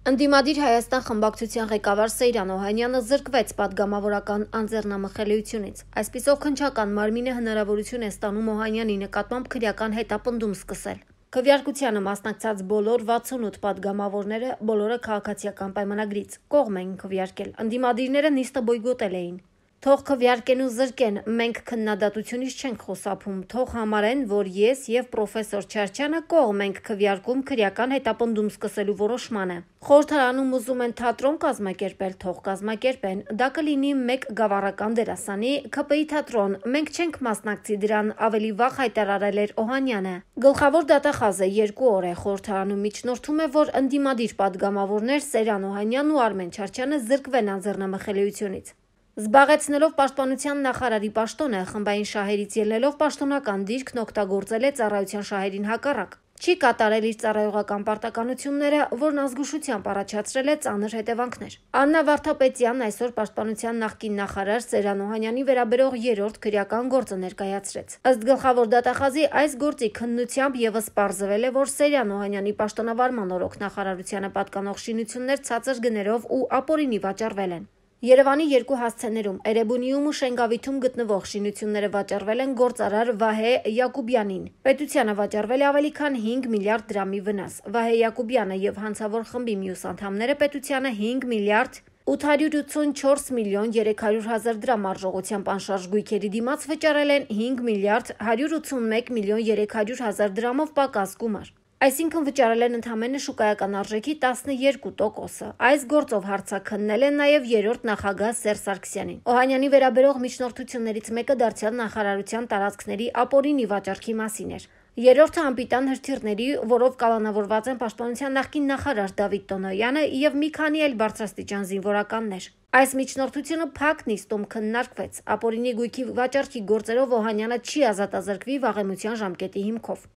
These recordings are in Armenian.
Ընդդիմադիր Հայաստան խմբակցության ղեկավար Սեյրան Օհանյանը զրկվեց պատգամավորական անձեռնամխելիությունից։ Այսպիսով քննչական մարմինը հնարավորություն է ստանում Օհանյանի նկատմամբ քրեական հետապնդում սկսել։ Քվեարկությանը մասնակցած բոլոր 68 պատգամավորները բոլորը քաղաքացիական պայմանագրից կողմ էին քվեարկել։ Ընդդիմադիրները նիստը բոյկոտել էին։ Թող քվեարկեն ու զրկեն, մենք քննադատությունից չենք խուսափում, թող համարեն, որ ես եւ պրոֆեսոր Չարչյանը կողմ ենք քվեարկում քրեական հետապնդում սկսելու որոշմանը։ Խորհրդարանում ուզում են թատրոն կազմակերպել, թող կազմակերպեն, դա կլինի մեկ գավառական դերասանի, ՔՊԻ թատրոն, մենք չենք մասնակցի դրան, ավելի վաղ հայտարարել էր Օհանյանը։ Գլխավոր դատախազը 2 օր է խորհրդարանում միջնորդում է, որ ընդդիմադիր պատգամավորներ Սեյրան Օհանյանն ու Արմեն Չարչյանը զրկվեն անձեռնամխելիությունից։ Զբաղեցնելով պաշտպանության նախարարի պաշտոնը, խմբային շահերից ելնելով պաշտոնական դիրքն օգտագործել է ծառայության շահերին հակառակ։ Չի կատարել իր ծառայողական պարտականությունները, որն ազգուշությամբ առաջացրել է ծանր հետևանքներ։ Աննա Վարդապետյանն այսօր պաշտպանության նախկին նախարար Սեյրան Օհանյանի վերաբերող 3-րդ քրեական գործը ներկայացրեց։ Ըստ գլխավոր դատախազի, այս գործի քննությամբ եւս պարզվել է, որ Սեյրան Օհանյանի պաշտոնավարման օրոք նախարարությանը պատկանող շինություններ ցածր գներով ու ապօրինի վաճառվել են։ Երևանի 2 հասցեներում Էրեբունիում ու Շենգավիթում գտնվող շինությունները վաճառվել են գործարար Վահե Յակուբյանին։ Պետությանը վաճառվել է ավելի քան 5 միլիարդ դրամի վնաս։ Վահե Յակուբյանը եւ հանցավոր խմբի մյուս անդամները պետությանը 5 միլիարդ 884 միլիոն 300 հազար դրամ արժողությամբ անշարժ գույքերի դիմաց վճարել են 5 միլիարդ 181 միլիոն 300 հազար դրամով պակաս գումար։ Այսինքն վճարել են ընդամենը շուկայական արժեքի 12%։ Այս գործով հարցաքննել են նաև 3-րդ նախագահ Սերժ Սարգսյանին։ Օհանյանի վերաբերող միջնորդություններից մեկը դարձյալ նախարարության տարածքների ապօրինի վաճառքի մասին էր։ Երրորդը անպիտան հրթիռների, որով կալանավորված են պաշտպանության նախկին նախարար Դավիթ Տոնոյանը եւ մի քանի այլ բարձրաստիճան զինվորականներ։ Այս միջնորդությունը փակ նիստում քննարկվեց։ Ապօրինի գույքի վաճառքի գործերով Օհանյանը չի ազատազրկվի վաղեմության ժամկետի հիմքով։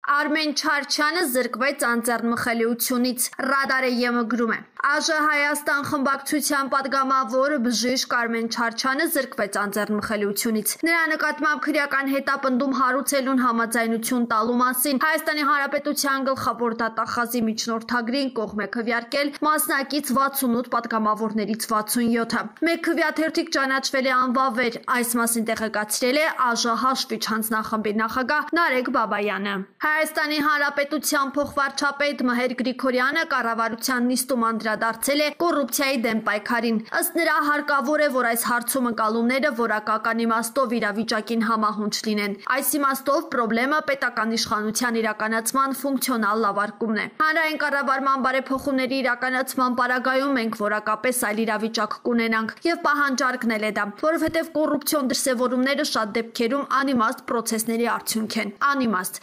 Արմեն Չարչյանը զրկվեց անձեռնմխելիությունից, Ռադարը ԵՄ գրում է։ ԱԺ Հայաստան խմբակցության պատգամավոր բժիշկ Արմեն Չարչյանը զրկվեց անձեռնմխելիությունից։ Նրա նկատմամբ քրեական հետապնդում հարուցելուն համաձայնություն տալու մասին Հայաստանի Հանրապետության գլխավոր դատախազի միջնորդագրին կողմ է քվեարկել մասնակից 68 պատգամավորներից 67-ը։ Մեկ քվեաթերթիկ ճանաչվել է անվավեր, այս մասին տեղեկացրել է ԱԺ Հաշվիչ հանձնախմբի նախագահ Նարեկ Բաբայանը։ Հայաստանի Հանրապետության փոխվարչապետ Մհեր Գրիգորյանը կառավարության նիստում անդրադարձել է կոռուպցիայի դեմ պայքարին։ Ըստ նրա հարկավոր է, որ այս հարցում ընկալումները որակական իմաստով իրավիճակին համահունչ լինեն։ Այս իմաստով պրոբլեմը պետական իշխանության իրականացման ֆունկցիոնալ լավարկումն է։ Հանրային կառավարման բարեփոխումների իրականացման պարագայում մենք որակապես այլ իրավիճակ կունենանք եւ պահանջարկն է դա, որովհետեւ կոռուպցիոն դրսեւորումները շատ դեպքերում անիմաստ պրոցեսների արդյունք են։ Անիմաստ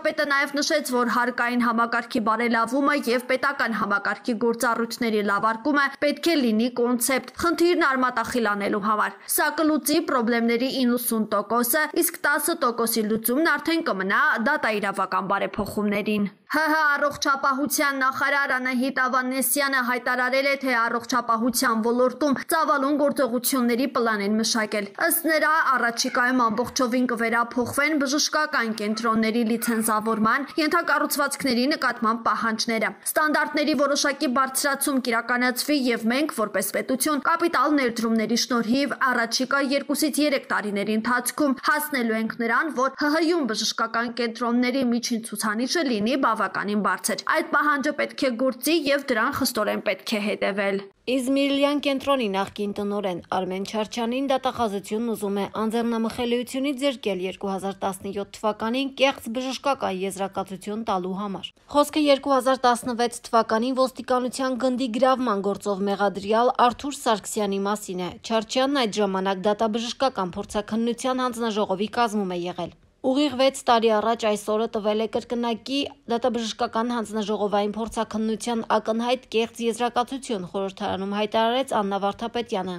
Պետը նաև նշեց, որ հարկային համակարգի բարելավումը եւ պետական համակարգի գործառույթների լավարկումը պետք է լինի կոնցեպտ, խնդիրն արմատախիլ անելու համար։ Սա կլուծի պրոբլեմների 90%-ը, իսկ 10%-ի լուծումն արդեն կմնա դատաիրավական բարեփոխումներին։ ՀՀ առողջապահության նախարար Անահիտ Ավանեսյանը հայտարարել է, թե առողջապահության ոլորտում ծավալուն գործողությունների պլան են մշակել։ Ըստ նրա, առաջիկայում ամբողջովին կվերափոխվեն բժշկական կենտրոնների լիցենզավորման, ենթակառուցվածքների նկատմամբ պահանջները։ Ստանդարտների որոշակի բարձրացում կիրականացվի եւ մենք, որպես պետություն, կապիտալ ներդրումների շնորհիվ առաջիկա 2-ից 3 տարիների ընթացքում հասնելու ենք նրան, որ ՀՀ-ում բժշկական կենտրոնների միջին ցուցանիշը լինի բավականին բարձր։ Այդ պահանջը պետք է գործի եւ դրան խստորեն պետք է հետեւել։ Իզմիրլյան կենտրոնի նախկին տնօրեն Արմեն Չարչյանին դատախազությունն ուզում է անձեռնամխելիությունից զրկել 2017 թվականին կեղծ բժշկական եզրակացություն տալու համար։ Խոսքը 2016 թվականին ոստիկանության գնդի գրավման գործով մեղադրյալ Արթուր Սարգսյանի մասին է։ Չարչյանն այդ ժամանակ դատաբժշկական փորձաքննության հանձնաժողովի կազմում է եղել։ Ուղիղ 6 տարի առաջ այս օրը տվել է կրկնակի դատաբժշկական հանձնաժողովային փորձաքննության ակնհայտ կեղծ եզրակացություն, խորհրդարանում հայտարարեց Աննա Վարդապետյանը։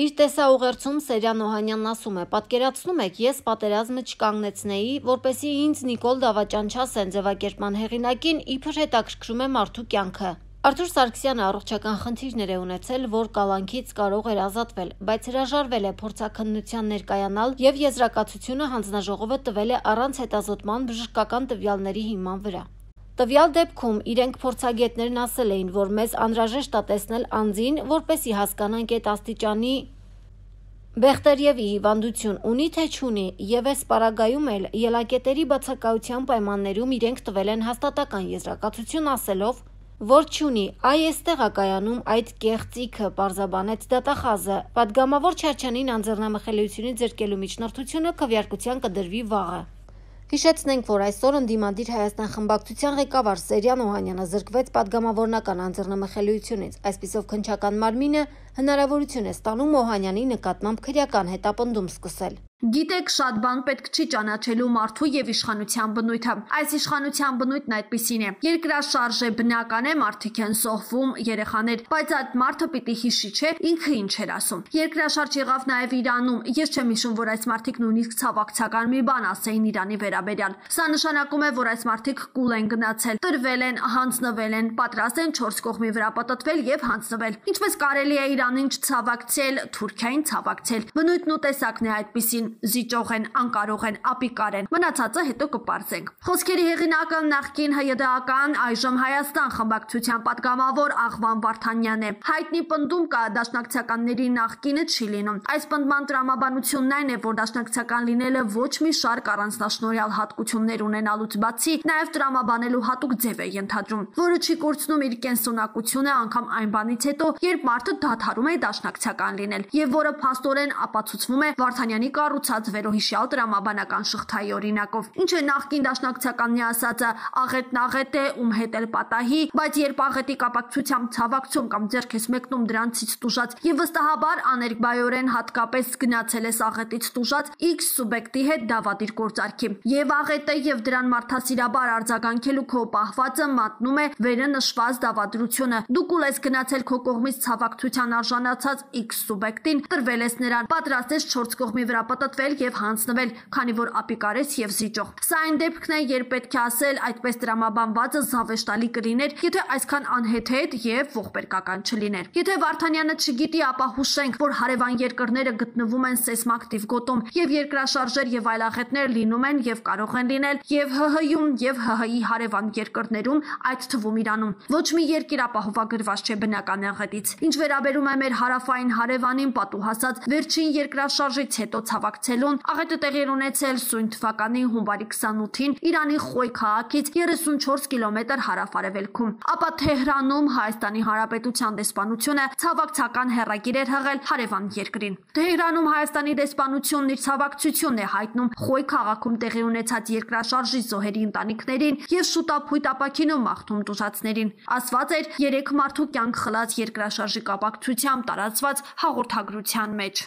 Իր տեսաուղերձում Սեյրան Օհանյանն ասում է. «Պատկերացնում եք, ես պատերազմը չկանգնեցնեի, որպեսզի ինձ Նիկոլ Դավաճան չասեն ձևակերպման հեղինակին իբր հետաքրքրում է մարդու կյանքը»։ Արթուր Սարգսյանը առողջական խնդիրներ է ունեցել, որ կալանքից կարող էր ազատվել, բայց հրաժարվել է փորձաքննության ներկայանալ եւ եզրակացությունը հանձնաժողովը տվել է առանց հետազոտման բժշկական տվյալների հիման վրա։ Տվյալ դեպքում իրենք փորձագետներն ասել էին, որ մեզ անհրաժեշտ է տեսնել անձին, որպեսզի հասկանանք այդ աստիճանի Բեխտերևի հիվանդություն ունի թե չունի, եւ այս պարագայում էլ ելակետերի բացակայության պայմաններում իրենք տվել են հաստատական եզրակացություն ասելով, որ չունի, այ էստեղ է կայանում այդ կեղծիքը, պարզաբանեց դատախազը։ Պատգամավոր Չարչյանին անձեռնամխելիությունից զրկելու միջնորդությունը քվեարկության կդրվի վաղը։ Հիշեցնենք, որ այսօր ընդդիմադիր Հայաստան խմբակցության ղեկավար Սերյան Օհանյանը զրկվեց պատգամավորնական անձեռնամխելիությունից։ Այսպիսով քննչական մարմինը հնարավորություն է ստանում Օհանյանի նկատմամբ քրեական հետապնդում սկսել։ Գիտեք, շատ բան պետք չի ճանաչելու մարդու եւ իշխանության բնույթը։ Այս իշխանության բնույթն այդպիսին է։ Երկրաշարժ է, բնական է, մարդիկ են սողվում, երեխաներ, բայց այդ մարդը պիտի հիշի, չէ, ինքը ինչ էր ասում։ Երկրաշարժ եղավ նաեւ Իրանում։ Ես չեմ հիշում, որ այս մարդիկ նույնիսկ ցավակցական մի բան ասեին Իրանի վերաբերյալ։ Սա նշանակում է, որ այս մարդիկ կուլ են գնացել, տրվել են, հանձնվել են, պատրաստ են 4 կողմի վրա պատտվել եւ հանձնվել։ Ինչպես կարելի է Իրանին չցավակցել, Թուրքիային ցավակցել։ Բնույթն ու տեսակն է այդպիսին։ Զիջող են, անկարող են, ապիկար են։ Մնացածը հետո կպարզենք։ Խոսքերի հեղինակը նախկին ՀՅԴ-ական, այժմ Հայաստան խմբակցության պատգամավոր Աղվան Վարդանյանն է։ Հայտնի պնդում կա դաշնակցականների նախկինը չի լինում։ Այս պնդման տրամաբանությունն այն է, որ դաշնակցական լինելը ոչ մի շարք առանձնաշնորհյալ հատկություններ ունենալուց բացի նաև տրամաբանելու հատուկ ձև է ենթադրում, որը չի կորցնում իր կենսունակությունը անգամ այն բանից հետո, երբ մարդը դադարում է դաշնակցական լինել, եւ որը փաստորեն ապացուցվում է Վարդանյանի կառուցած վերոհիշյալ տրամաբանական շղթայի օրինակով։ Ինչ է նախկին դաշնակցականի ասածը՝ աղետն աղետ է, ում հետ էլ պատահի, բայց երբ աղետի կապակցությամբ ցավակցում կամ ձեռք ես մեկնում դրանցից տուժած եւ վստահաբար աներկբայորեն հատկապես գնացել ես աղետից տուժած X սուբյեկտի հետ դավադիր գործարքի, եւ աղետը եւ դրան մարդասիրաբար արձագանքելու քո պահվածը մատնում է վերը նշված դավադրությունը։ Դու կուլ ես գնացել քո կողմից ցավակցության արժանացած X սուբյեկտին, տրվել ես նրան, պատրաստ ես 4 կողմի վրա պատտվել եւ հանձնվել, քանի որ ապիկար ես եւ զիջող։ Սա այն դեպքն է, երբ պետք է ասել այդպես տրամաբանվածը զավեշտալի կլիներ, եթե այսքան անհեթեթ եւ ողբերգական չլիներ։ Եթե Վարդանյանը չգիտի, ապա հուշենք, որ հարևան երկրները գտնվում են սեյսմակտիվ գոտում եւ երկրաշարժեր եւ այլախետներ լինում են եւ կարող են լինել եւ ՀՀ-ում եւ ՀՀ-ի հարևան երկրներում, այդ թվում Իրանում։ Ոչ մի երկիր ապահովագրված չէ բնական աղետից։ Ինչ վերաբերում է մեր հարավային հարևանին պատուհասած վերջին երկրաշարժից հետո ցավակցելուն, աղետը տեղի ունեցել սույն թվականի հունվարի 28-ին Իրանի Խոյ քաղաքից 34 կիլոմետր հարավ-արևելքում։ Ապա Թեհրանում Հայաստանի Հանրապետության դեսպանությունը ցավակցական հեռագիր էր հղել հարևան երկրին։ Թեհրանում Հայաստանի դեսպանությունն իր ցավակցությունն է հայտնում Խոյ քաղաքում տեղի ունեցած երկրաշարժի զոհերի ընտանիքներին եւ շուտափույթ ապաքինում մաղթում տուժածներին։ Ասված էր 3 մարդու կյանք խլած երկրաշարժի կապակցությամբ տարածված հաղորդագրության մեջ։